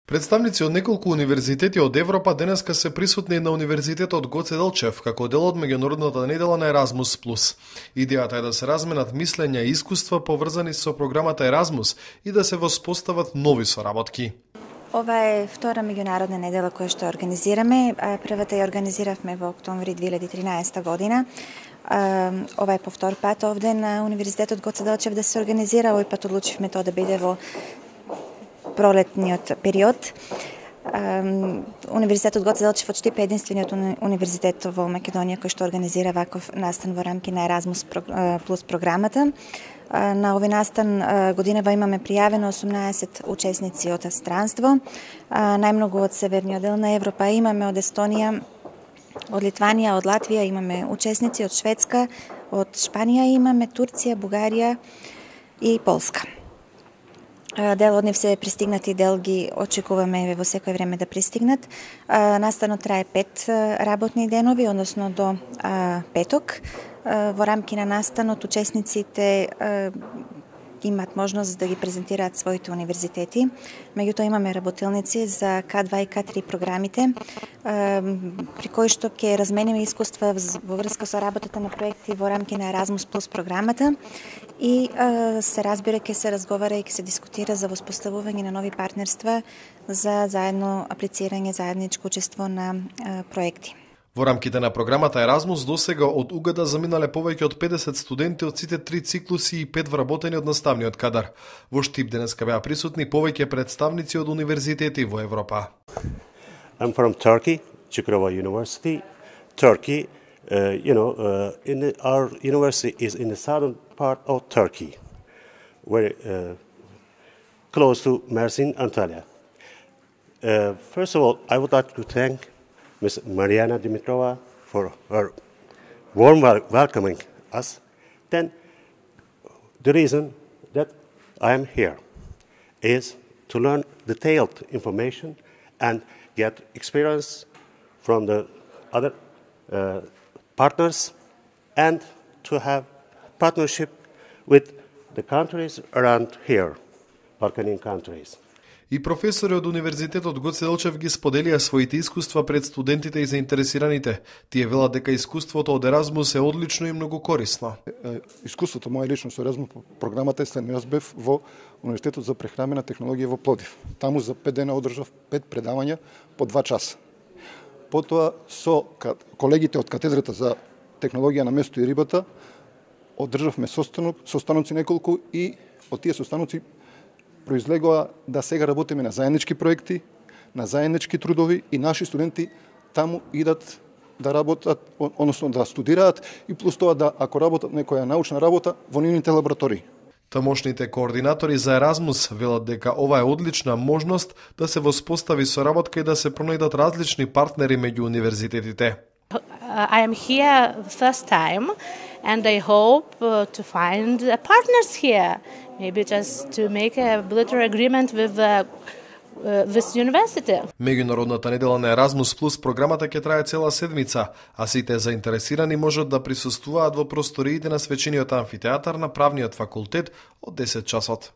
Представници од неколку универзитети од Европа денеска се присутни на Универзитетот Гоце Делчев како дел од меѓународната недела на Еразмус Плюс. Идејата е да се разменат мислења и искуства поврзани со програмата Еразмус и да се воспостават нови соработки. Ова е втора меѓународна недела која што организираме. Првата ја организиравме во октомври 2013 година. Ова е по втор пат овде на Универзитетот Гоце Делчев да се организира. Овој пат одлучивме тоа да биде во пролетниот период. Универзитетот Гоце Делчев очтипа единствениот универзитет во Македонија кој што организира ваков настан во рамки на Еразмус Плюс програмата. На овој настан годинава имаме пријавено 18 учесници од странство, најмногу од северниот дел на Европа имаме од Естонија, од Литванија, од Латвија имаме учесници, од Шведска, од Шпанија имаме, Турција, Бугарија и Полска. Дел од нив се пристигнати, дел ги очекуваме во секој време да пристигнат. Настанот трае 5 работни денови, односно до петок. Во рамки на настанот учесниците имаат можност да ги презентираат своите универзитети. Меѓутоа имаме работилници за К2 и К3 програмите, при кои што ќе размениме искуства во врска со работата на проекти во рамки на Еразмус Плюс програмата и се разбира ќе се разговара и ќе се дискутира за воспоставување на нови партнерства за заедно аплицирање, заедничко учество на проекти. Во рамките на програмата Еразмус досега од УГД заминале повеќе од 50 студенти од сите 3 циклуси и 5 вработени од наставниот кадар. Во Штип денеска беа присутни повеќе представници од универзитети во Европа. I'm from Turkey, Çukurova University. Turkey, our university is in the southern part of Turkey, very close to Mersin, Antalya. First of all, I would like to thank Ms. Mariana Dimitrova for her warm welcoming us. Then the reason that I am here is to learn detailed information and get experience from the other partners and to have partnership with the countries around here, Balkanian countries. И професори од Универзитетот Гоце Делчев ги споделија своите искуства пред студентите и заинтересираните. Тие велат дека искуството од Еразмус е одлично и многу корисно. Искуството мое лично со Еразмус програмата е следно. Јас бев во Универзитетот за прехрамбена технологија во Пловдив. Таму за 5 дена одржав 5 предавања по 2 часа. Потоа со колегите од катедрата за технологија на место и рибата одржавме состаноци неколку и од тие состаноци произлегоа да сега работиме на заеднички проекти, на заеднички трудови и наши студенти таму идат да работат, односно да студираат и плюс тоа да ако работат некоја научна работа во нивните лаборатории. Тамошните координатори за Еразмус велат дека ова е одлична можност да се воспостави соработка и да се пронајдат различни партнери меѓу универзитетите. I am here the first time and I hope to find partners here. Maybe just to make a bilateral agreement with this university. Меѓународната недела на Еразмус Плюс програмата ќе трае цела седмица, а сите заинтересирани можат да присуствуваат во просториите на свечениот амфитеатар на Правниот факултет од 10 часот.